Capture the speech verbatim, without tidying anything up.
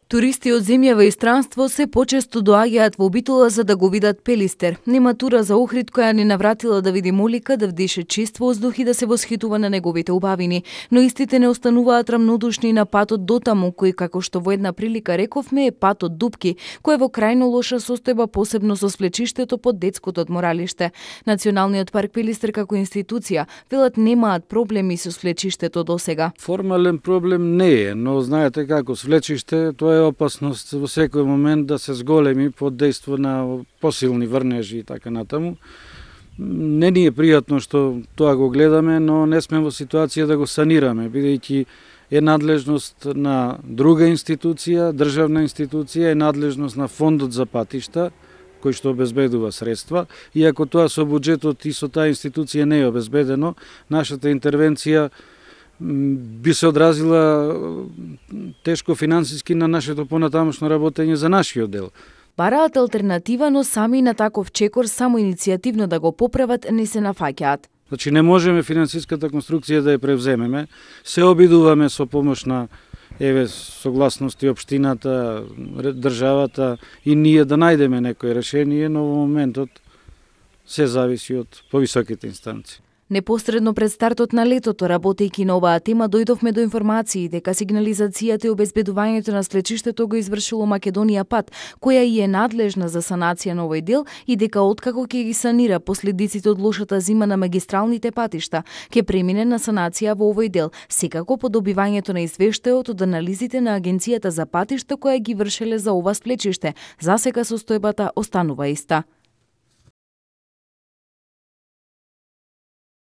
Туристи од земјава и странство се почесто доаѓаат во Битола за да го видат Пелистер. Нема тура за Охрид која ни навратила да види Молика, да вдише чист воздух и да се восхитува на неговите убавини. Но истите не остануваат рамнодушни на патот дотаму, кој, како што во една прилика рековме, е патот Дупки, кој е во крајно лоша состојба, посебно со свлечиштето под детското одморалиште. Националниот парк Пелистер како институција велат немаат проблеми со свлечиштето досега. Формален проблем не е, но знаете како свлечиште, тоа е опасност во секој момент да се зголеми под дејство на посилни врнежи и така натаму. Не ни е пријатно што тоа го гледаме, но не сме во ситуација да го санираме, бидејќи е надлежност на друга институција, државна институција, е надлежност на фондот за патишта, кој што обезбедува средства, и ако тоа со буџетот и со таа институција не е обезбедено, нашата интервенција би се одразила тешко финансиски на нашето понатамошно работење за нашиот дел. Бараат алтернатива, но сами на таков чекор само иницијативно да го поправат не се нафаќаат. Значи не можеме финансиската конструкција да ја превземеме, се обидуваме со помош на еве согласности општината, државата и ние да најдеме некој решение, но во моментот се зависи од повисоките инстанции. Непосредно пред стартот на летото, работејќи на оваа тема, дојдовме до информации дека сигнализацијата и обезбедувањето на свлечиштето го извршило Македонија Пат, која и е надлежна за санација на овој дел и дека откако ќе ги санира последиците од лошата зима на магистралните патишта, ќе премине на санација во овој дел, секако по добивањето на извештајот од анализите на Агенцијата за патишта која ги вршеле за ова свлечиште. Засега состојбата останува иста.